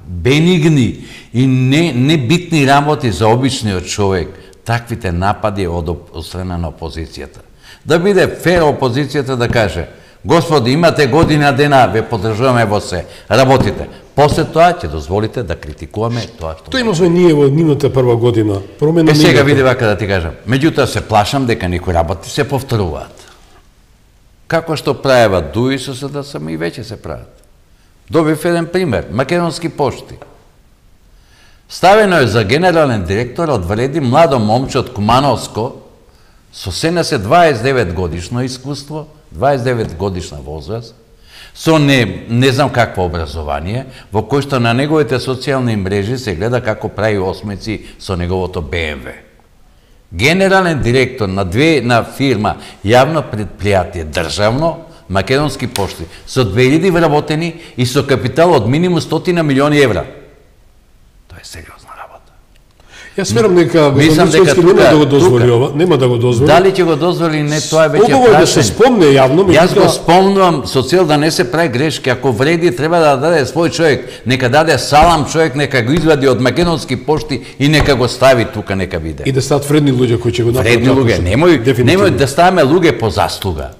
бенигни и небитни работи за обичниот човек, таквите напади од страна на опозицијата. Да биде фер опозицијата да каже, господи, имате година дена, ве поддржуваме во се, работите. После тоа ќе дозволите да критикуваме тоа што... Тоа имавме ние во нивната прва година. Сега види вака да ти кажам. Меѓутоа се плашам дека некои работи се повторуваат. Како што правеват ДУИ со СДСМ и веќе се прават. Добив еден пример. Македонски пошти. Ставено е за генерален директор од вреди младо момче од Кумановско со 29 годишно искуство, 29 годишна возраст, со не знам какво образование, во кој што на неговите социјални мрежи се гледа како прави осмици со неговото БМВ. Генерален директор на фирма, јавно предпријатие, државно, Македонски пошти, со 2000 вработени и со капитал од минимум 100 милиони евра. Тоа е сериозна работа. Јас верам дека Мисовски нема да го дозволи. Дали ќе го дозволи, не, тоа е веќе прашање. Убаво да се спомне јавно, Јас го спомнувам со цел да не се прави грешки, ако вреди треба да даде свој човек, нека даде салам човек, нека го извади од Македонски пошти и нека го стави тука, нека биде. И да стават вредни луѓе кои ќе го направат. Вредни луѓе, немој да ставаме луѓе по заслуга.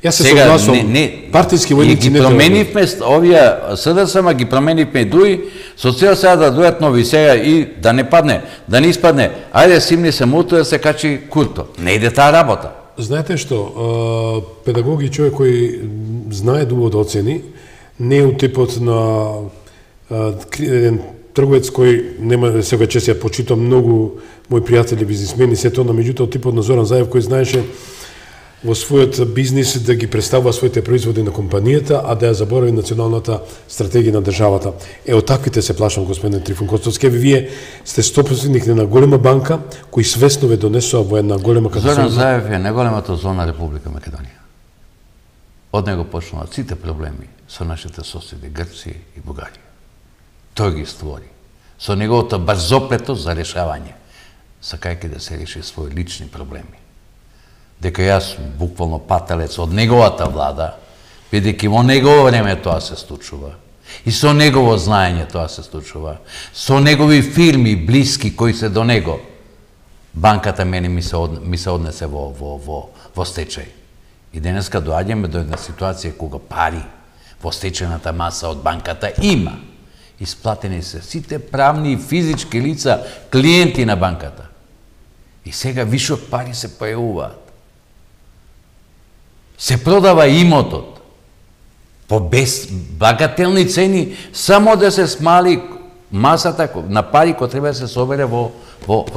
Јас се согласувам, партиски војници не треба. Ги променивме овие СДСМ, ги променивме ДУИ, со цел сега да дојдат нови сега и да не падне, да не испадне, ајде симни се муто да се качи Курто. Не иде таа работа. Знаете што, педагог и човек кој знае дубо да оцени, не е од типот на еден трговец кој нема сега чест ја почитам многу мои пријатели бизнисмени, се тоа, меѓутоа од типот на Зоран Заев кој знаеше во својот бизнис да ги представува своите производи на компанијата, а да ја заборави националната стратегија на државата. Од таквите се плашам, господин Трифун Костовски. Вие сте собственик на голема банка, кој свесно ве донесува во една голема катастрофа. Зоран Заев е најголемата зона Република Македонија. Од него почнуваат сите проблеми со нашите соседи Грција и Бугарија. Тој ги створи. Со неговото брзоплетост за решавање, сакајќи да се реши своји лични проблеми. Дека јас буквално пателец од неговата влада, бидејќи во негово време тоа се случува. И со негово знаење тоа се случува. Со негови фирми блиски кои се до него. Банката мене ми се однесе во стечај. И денеска доаѓаме до една ситуација кога пари во стечајната маса од банката има. Исплатени се сите правни и физички лица, клиенти на банката. И сега вишок пари се појавуваат. Се продава имотот по багателни цени, само да се смали масата на пари кој треба да се собере во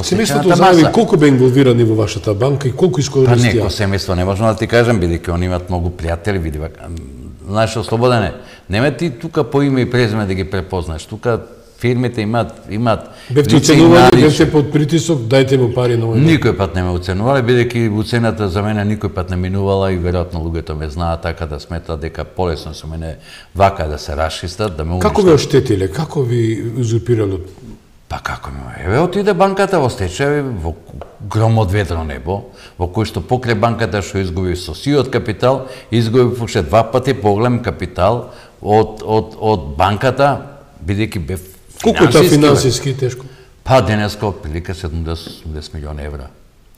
семејството знаеме колку бе инволвирани во вашата банка и колку искористија? Па не, семејство не можам да ти кажам, бидејќи они имаат многу пријатели, види вака. Знаеш, Слободане, нема ти тука по име и презиме да ги препознаеш. Тука фирмите имаат бевте оценували, бевте под притисок, дајте му пари на овој. Никој пат не ме оценувале, бидејќи уцената за мене никој пат не минувала и веројатно луѓето ме знаат така да сметат дека полесно со мене вака да се расчистат, да ме уништат. Како ве оштетиле? Како ви узурпирале? Па како ми? Еве отиде банката во стечај, во гром од ведро небо, во кој што покрај банката што изгуби со сиот капитал, изгуби уште 2 пати поголем капитал од банката, бидејќи бе Колку е тоа финансиски тешко? Па денеска отприлика 70 милиона евра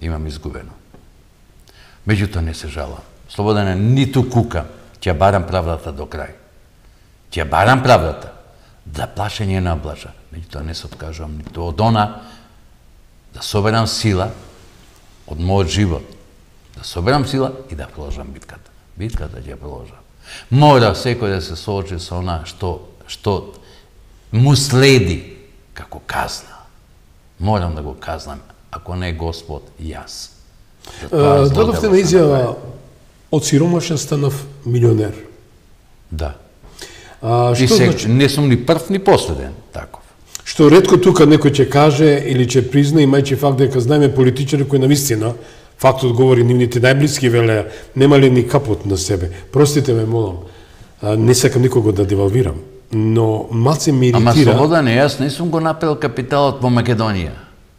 имам изгубено. Меѓутоа не се жалам. Слободане, ниту кукам. Ќе барам правдата до крај. Ќе барам правдата. Да плашење на облажа. Меѓутоа не се откажувам ниту од она да соберам сила од мојот живот. Да соберам сила и да продолжам битката. Битката ќе продолжам. Мора секој да се соочи со она што му следи како казна. Морам да го казнам, ако не Господ, јас. Дадовте на изјава од сиромашен станав милионер. Да. Што значи? Не сум ни прв, ни последен таков. Што ретко тука некој ќе каже или ќе призна, имајќи факт дека знаеме политичари кои навистина, фактот говори нивните најблиски велеа, немале ни капот на себе. Простите ме, молам, не сакам никого да девалвирам, но малце ме иритира. Ама Слободане, јас не сум го направил капиталот во Македонија.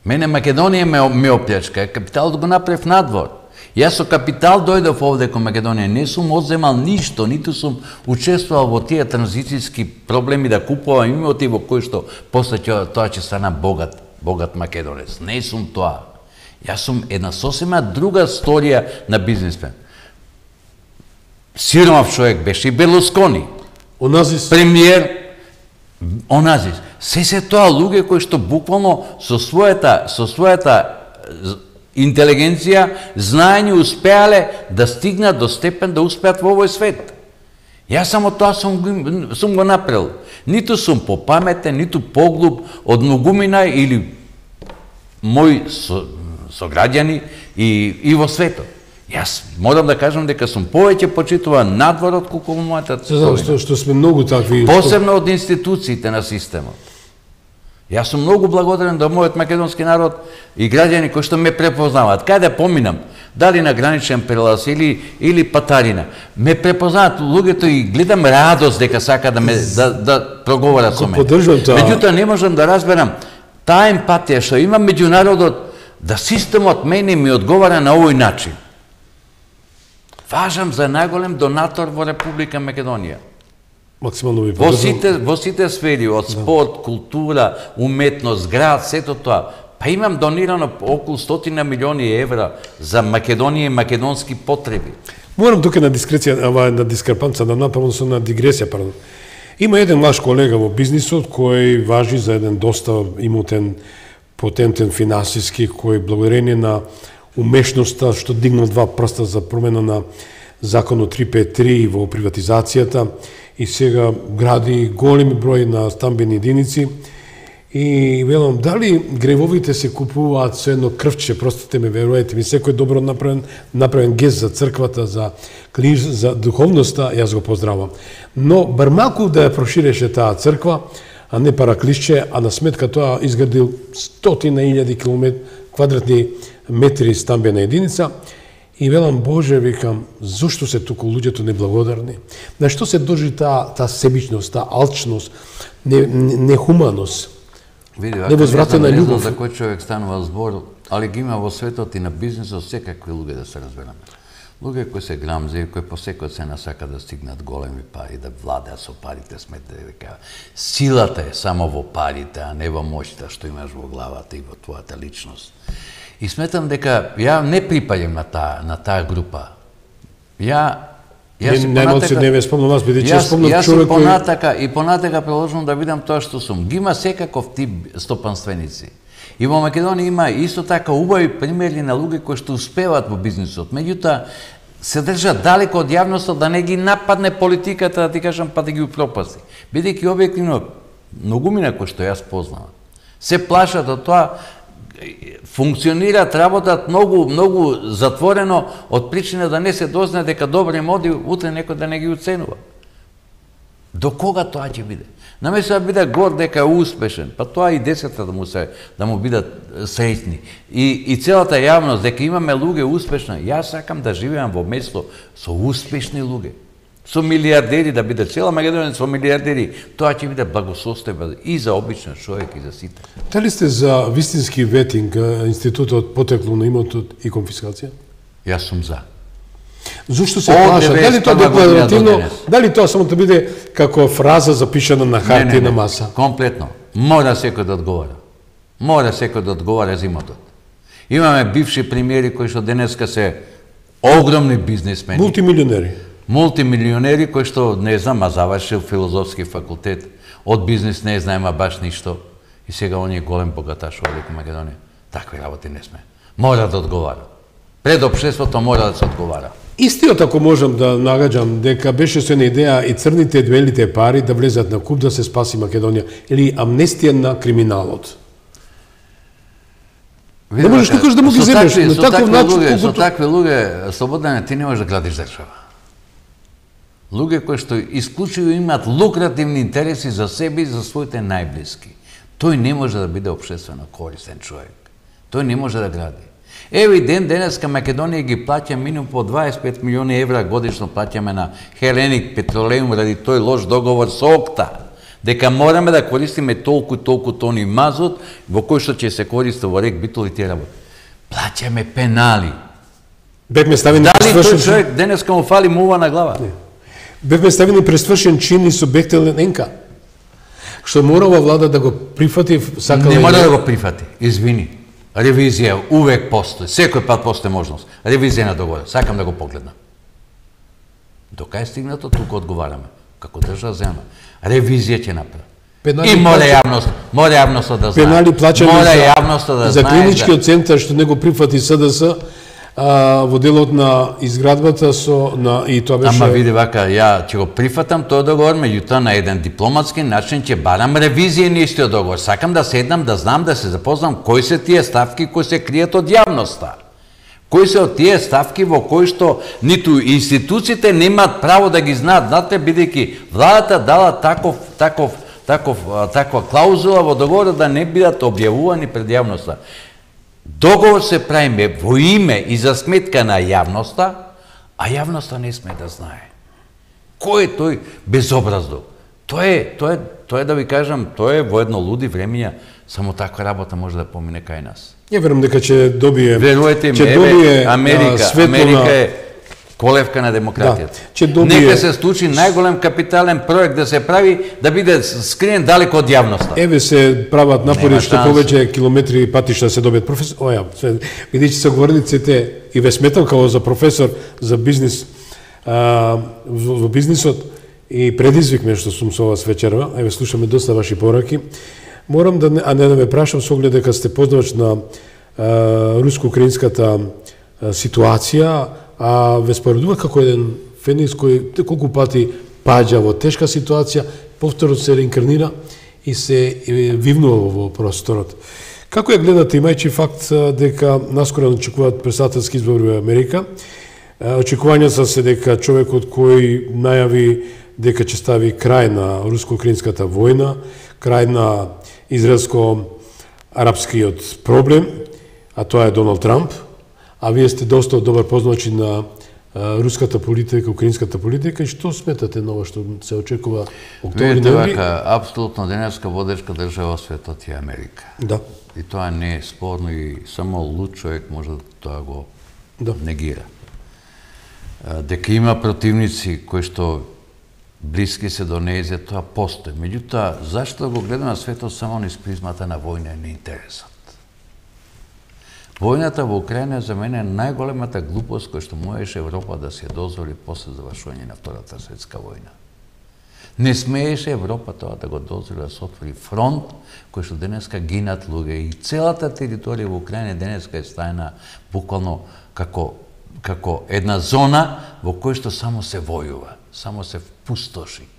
Мене Македонија ме оплячка, капиталот го направив надвор. Јас со капитал дојдов овде кон Македонија, не сум одземал ништо, ниту сум учествувал во тие транзицијски проблеми да купувам имоти во кои што после тоа ќе стана богат македонец. Не сум тоа. Јас сум една сосема друга сторија на бизнисмен. Сиромав човек беше и Берлускони. Оназис. Премиер Оназис. Се тоа луѓе кои што буквално со својата интелигенција, знаење успеале да стигнат до степен да успеат во овој свет. Јас само тоа сум го направил. Ниту сум попаметен, ниту поглуп од многумина или мои сограѓани и во светот. Јас морам да кажам дека сум повеќе почитуван надвор од колку мојата сојна. Што сме многу такви. Посебно од институциите на системот. Јас сум многу благодарен до мојот македонски народ и граѓани кои што ме препознаваат. Каде поминам, дали на граничен прелаз или патарина, ме препознаваат луѓето и гледам радост дека сака да проговорат со мене. Меѓутоа не можам да разберам таа емпатија што има меѓу народот, да системот мене ми одговара на овој начин. Важам за најголем донатор во Република Македонија. Максимално ви Во сите сфери, од спорт, култура, уметност, град, сето тоа. Па имам донирано околу 100 милиони евра за Македонија и македонски потреби. Морам тука на дискрепанца да направам со на дигресија, пардон. Има еден ваш колега во бизнисот кој важи за еден доста имотен, потентен финансиски, кој благодарение на умешноста што дигнал 2 прста за промена на законот 353 во приватизацијата и сега гради големи број на стамбени единици. И велам, дали гревовите се купуваат со едно крвче, простите ме, веруете ми, секој добро направен гест за црквата, за духовноста, јас го поздравам. Но бар малку да ја проширеше таа црква, а не параклисче, а на сметка тоа изградил 100.000 квадратни метри стамбена единица. И велам, Боже, викам, зошто се туку луѓето неблагодарни? На што се дължи таа себичност, таа алчност, нехуманост, невозвратена љубов? Не знам за кој човек станува збор, али ги има во светот и на бизнисот секакви луѓе, да се разбераме. Луѓе кои се грамзи, кои по секој цена сака да стигнат големи пари, да владеат со парите, смете дека силата е само во парите, а не во моќта што имаш во главата и во твојата личност. И сметам дека ја не припаѓам на таа група. Јас понатака продолжувам да видам тоа што сум. Ги има секаков тип стопанственици. И во Македонија има исто така убави примери на луѓе кои што успеваат во бизнисот. Меѓутоа се држат далеко од јавноста да не ги нападне политиката, да ти кажам, па да ги упропасти. Бидејќи објективно многумина кои што јас познавам се плашат од тоа, функционираат, работат многу затворено од причина да не се дознае дека добри моди утре некој да не ги оценува. До кога тоа ќе биде? Наместо да биде горд дека е успешен, па тоа и децата да му бидат среќни. И целата јавност дека имаме луѓе успешни, јас сакам да живеам во место со успешни луѓе. Со милиардери, да биде цела Македонија со милиардери, тоа ќе биде благосостојба и за обичен човек и за сите. Дали сте за вистински ветинг, институтот потекло на имотот и конфискација? Јас сум за. Зошто се плаша? Дали тоа декларативно, дали тоа само да биде како фраза запишана на хартија на маса? Комплетно. Мора секој да одговара. Мора секој да одговара за имотот. Имаме бивши премиери кои што денеска се огромни бизнисмени. Мултимилионери кои што, не знам, завршил филозофски факултет, од бизнис не знаема баш ништо, и сега он е голем богаташ во Велика Македонија. Такви работи не сме. Мора да одговара. Пред општеството мора да се одговара. Истиот, ако можам да нагаѓам, дека беше со една идеја и црните белите пари да влезат на куп да се спаси Македонија, или амнестија на криминалот. Не можеш никош да му ги земеш на таков начин. Со такви луѓе, Слободане, ти не можеш да градиш држава. Луѓе кои што исклучиво имаат лукративни интереси за себе и за своите најблиски. Тој не може да биде општествено корисен човек. Тој не може да гради. Еве денеска Македонија ги плаќа минимум по 25 милиони евра годишно плаќаме на Хеленик Петролеум ради тој лош договор со ОКТА, дека мораме да користиме толку тони мазот во кој што ќе се користи во рек Битол и тие работи. Плаќаме пенали. Бевме ставени дали тој човек денеска му фали мува на глава? Не. Бевме ставени пресвршен чин и субјективен енка. Што морала влада да го прифати, сакала. Не мора да го прифати, извини. Ревизија увек постои, секој пат постои можност. Ревизија на договор, сакам да го погледнам. Дока е стигнато, тука одговараме. Како држава земја. Ревизија ќе направи. И мора јавноста да знае. Пенали плачани за клиничкиот центар што не го прифати СДС во делот на изградбата и тоа беше. Ама види вака, ја ќе го прифатам тој договор, меѓутоа на еден дипломатски начин ќе барам ревизија на истиот договор. Сакам да седнам, да знам, да се запознам кои се тие ставки кои се кријат од јавноста. Кои се од тие ставки во кои што ниту институциите немаат право да ги знаат, знаете, бидејќи владата дала таква клаузула во договорот да не бидат објавувани пред јавноста. Договор се правиме во име и за сметка на јавноста, а јавноста не сме да знае. Кој е тој безобраздок? Тоа е да ви кажам, тоа е во едно луди времења, само таква работа може да помине кај нас. Ја верувам дека ќе добие. Верувате ми, Америка е колевка на демократијата. Нека се случи најголем капитален проект да се прави, да биде скриен далеко од јавноста. Еве се прават напори што повеќе километри и патишта се добијат. Професор, бидејќи се говорниците и ве сметам како за професор за бизнис во бизнисот и предизвик ме што сум со вас вечерва, еве слушаме доста ваши пораки. Морам да не ме прашам со оглед дека сте познавач на руско-украинската ситуација, а ве споредува како еден феникс кој колку пати паѓа во тешка ситуација, повторно се реинкарнира и се вивнува во просторот. Како ја гледате, имајќи факт дека наскоро очекуваат претседателски избори во Америка, очекувањата се дека човекот кој најави дека ќе стави крај на руско-украинската војна, крај на израелско-арапскиот проблем, а тоа е Доналд Трамп, а вие сте доста добар познавачи на руската политика, украинската политика, и што сметате на ова што се очекува октомври? Видите вака, апсолутно денеска водечка држава во светот е Америка. Да. И тоа не е спорно и само луд човек може да тоа го негира. Дека има противници кои што блиски се до нејзе, тоа постои. Меѓутоа, зашто да го гледаме светот само низ призмата на војна и неинтересот? Војната во Украина за мене е најголемата глупост која што можеше Европа да се дозволи после завршување на Втората светска војна. Не смееше Европа тоа да го дозволи да се отвори фронт кој што денеска гинат луѓе и целата територија во Украина денеска е стајна буквално како една зона во која што само се војува, само се пустоши.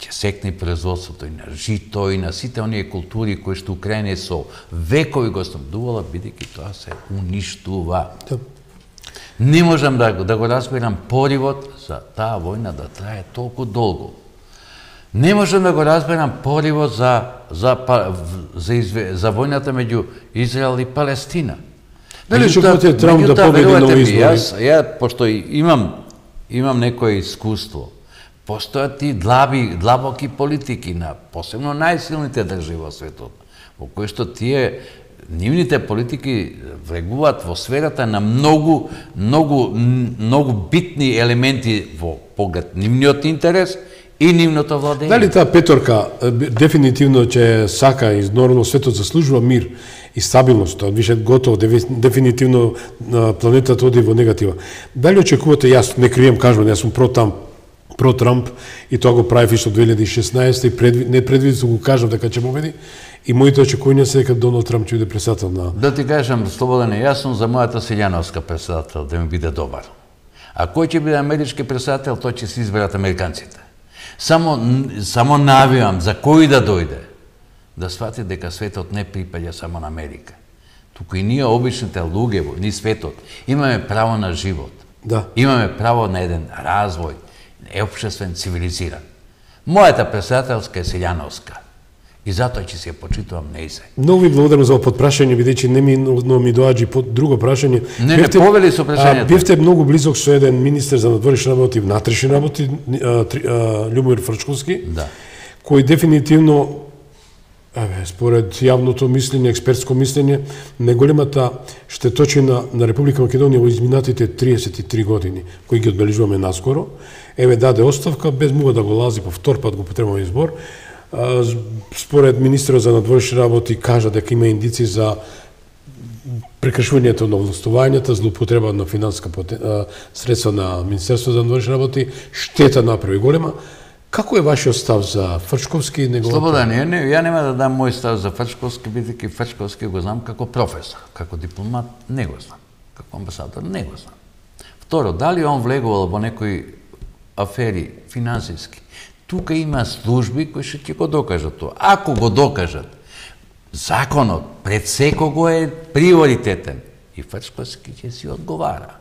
Ќе секне производството и на жито и на сите оние култури кои што Украина со векови го снабдувала, бидејќи тоа се уништува. Не можам да го разберам поривот за таа војна да трае толку долго. Не можам да го разберам поривот за војната меѓу Израел и Палестина. Дали ќе можете Трамп да победи на избори? Ја пошто имам некое искуство. Постојат и длабоки политики на посебно најсилните држави во светот, во кои што нивните политики влегуваат во сферата на многу битни елементи во поглед нивниот интерес и нивното владење. Дали таа петорка дефинитивно ќе сака и нормално светот заслужува мир и стабилност, тоа више готово, дефинитивно планетата оди во негатива. Дали очекувате, јас не крием, кажувам, јас сум про Трамп и тоа го правив исто 2016 и непредвидено го кажав дека ќе победи и моите очекувања се дека Доналд Трамп ќе биде председател на... Да ти кажам, слободен е јасно за мојата Силјановска председател да ми биде добар. А кој ќе биде амерички председател, тој ќе се изберат американците. Само навивам за кој да дојде, да свати дека светот не припаѓа само на Америка. Туку и ние обичните луѓе, ни светот, имаме право на живот. Да. Имаме право на еден развој, општествен, цивилизиран. Мојата председателска е Силјановска. И затоа ќе се почитувам нејзе. Многу ви благодарам за подпрашање, бидејќи не ми доаѓа друго прашање. Не, повели со прашањето. Бевте многу близок со еден министер за надворешни работи и внатрешни работи, Љубомир Фрчковски, да, кој дефинитивно, според јавното мислење, експертско мислење, најголемата штеточина на Република Македонија во изминатите 33 години, кои ги одбележуваме наскоро, даде оставка, без мога да го лази по втор пат го потребувам избор. Според министерот за надворешни работи кажа дека има индици за прекршувањето на властувањата, злоупотреба на финансиска средства на Министерството за надворешни работи, штета направи голема. Како е вашиот став за Фрчковски? Слободан, ја нема да дам мој став за Фрчковски, бидејќи Фрчковски го знам како професор, како дипломат не го знам, како амбасадор не го знам. Второ, дали он влегувал во некои афери финансиски? Тука има служби кои ќе го докажат тоа. Ако го докажат, законот пред секого е приоритетен и Фрчковски ќе си одговара.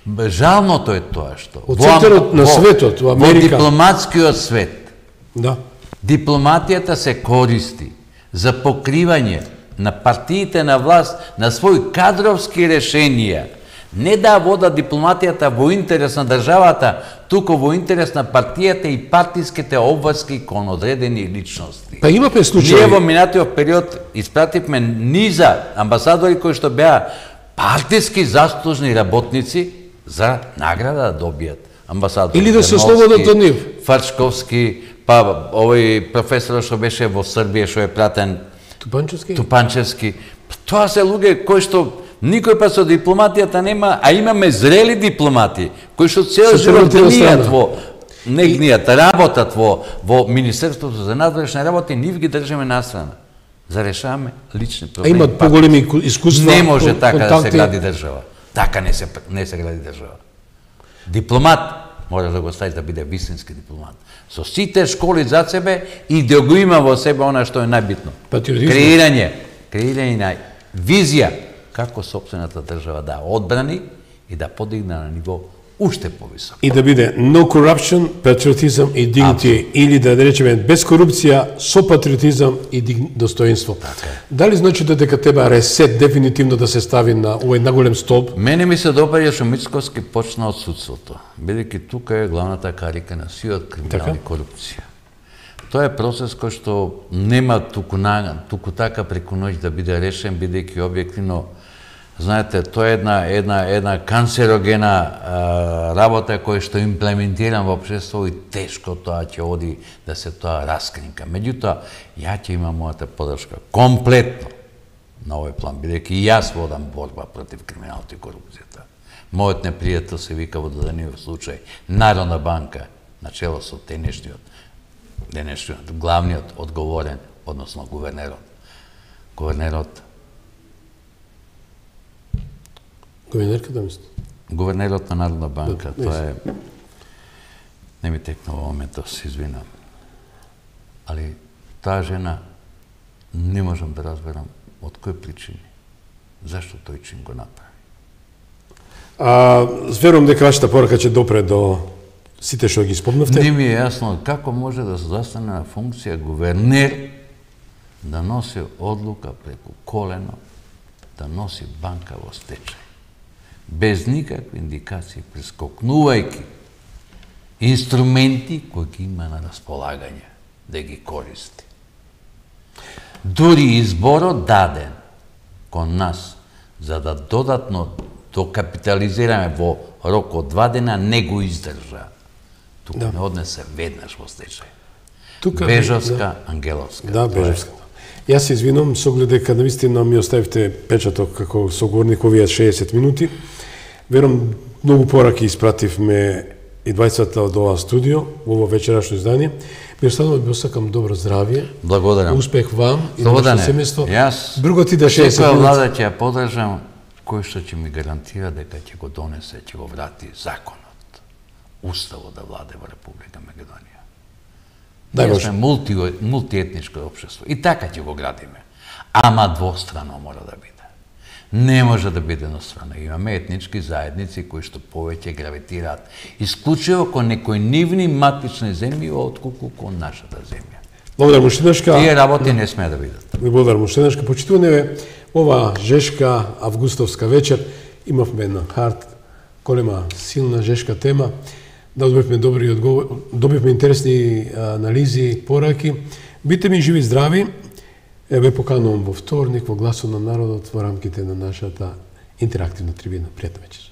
Жалното е тоа што од центарот на светот во Америка, во дипломатскиот свет, да, дипломатијата се користи за покривање на партиите на власт на своји кадровски решенија. Не да вода дипломатијата во интерес на државата, туку во интерес на партијата и партиските обврски кон одредени личности. Па имаме случаи. Ние во минатиот период испративме низа амбасадори кои што беа партиски заслужни работници за награда да добијат. Амбасадор или да се ослободат од нив. Фрчковски, па овој професор што беше во Србија, што е пратен Тупанчевски. Тоа се луѓе кои што никој па со дипломатијата нема, а имаме зрели дипломати кои што цел живот гнијат, работат во Министерството за надворешни работи, нив ги држиме настрана. За решаваме лични проблеми. Имат поголеми искуства. Не може така да се гради држава. Така не се гради држава. Дипломат мора да го ставиш да биде вистински дипломат. Со сите школи за себе и да го има во себе она што е најбитно. Креирање на визија како сопствената држава да одбрани и да подигне на ниво уште повисоко. И да биде no corruption, patriotism и dignity, или да речеме без корупција, со патриотизам и достоинство. Дали значи дека треба ресет дефинитивно да се стави на овој наголем столб? Мене ми се допаѓа што Мицковски почна од судството, бидејќи тука е главната карика на сиот криминал и корупција. Тоа е процес кој што нема туку така преку ноќ да биде решен, бидејќи објективно, знаете, тоа е една канцерогена работа која што имплементирам во општество и тешко тоа ќе оди да се тоа раскринка. Меѓутоа, ја ќе имам мојата подршка комплетно на овој план, бидејќи и јас водам борба против криминалот и корупцијата. Мојот непријател се вика во дадениот случај Народна банка, на чело со денешниот, главниот одговорен, односно гувернерот. Гувернерката мисли? Гувернерот на Народна банка, тоа е... Не ми текна во моментот, се извинам. Али таа жена не можам да разберам од кои причини, зашто тој чин го направи. Верувам дека вашата порака ќе допре до сите што ги спомнавте. Не ми е јасно како може да се застане на функција гувернер да носи одлука преку колено, да носи банка во стечај. Без никакви индикации, прескокнувајќи инструменти кои ги има на располагање, да ги користи. Дури изборот даден кон нас, за да додатно докапитализираме во рок од 2 дена, не го издржа. тука не однесе веднаш во стечај. Тука Бежавска, Ангеловска. Да, Бежавска. Јас се извинувам со оглед дека навистина ми оставивте печаток како соговорник овие 60 минути. Верувам многу пораки испративме и двајцата од ова студио, во ова вечерашно издание. Ми останува да ви осакам добро здравје. Благодарам. Успех вам и на Слободане, вашето семејство. Јас Друго ти да 60 секоја минути. влада ќе ја подржам, кој што ќе ми гарантира дека ќе го донесе, ќе го врати законот, уставот да владе во Република Македонија. Дај Ние Боже. сме мултиетничко општество и така ќе го градиме. Ама двострано мора да биде. Не може да биде еднострано. Имаме етнички заедници кои што повеќе гравитираат исклучиво кон некои нивни матични земји отколку кон нашата земја. Благодарам уште еднашка. Тие работи не смеа да бидат. Ви благодарам уште еднашка. Почитуване ова жешка августовска вечер. Имавме една хард, голема, силна жешка тема. Да добивме добри одговори, добивме интересни анализи, пораки. Бите ми живи и здрави. Ве поканувам во вторник во Гласот на народот во рамките на нашата интерактивна трибина. Пријатна вечер.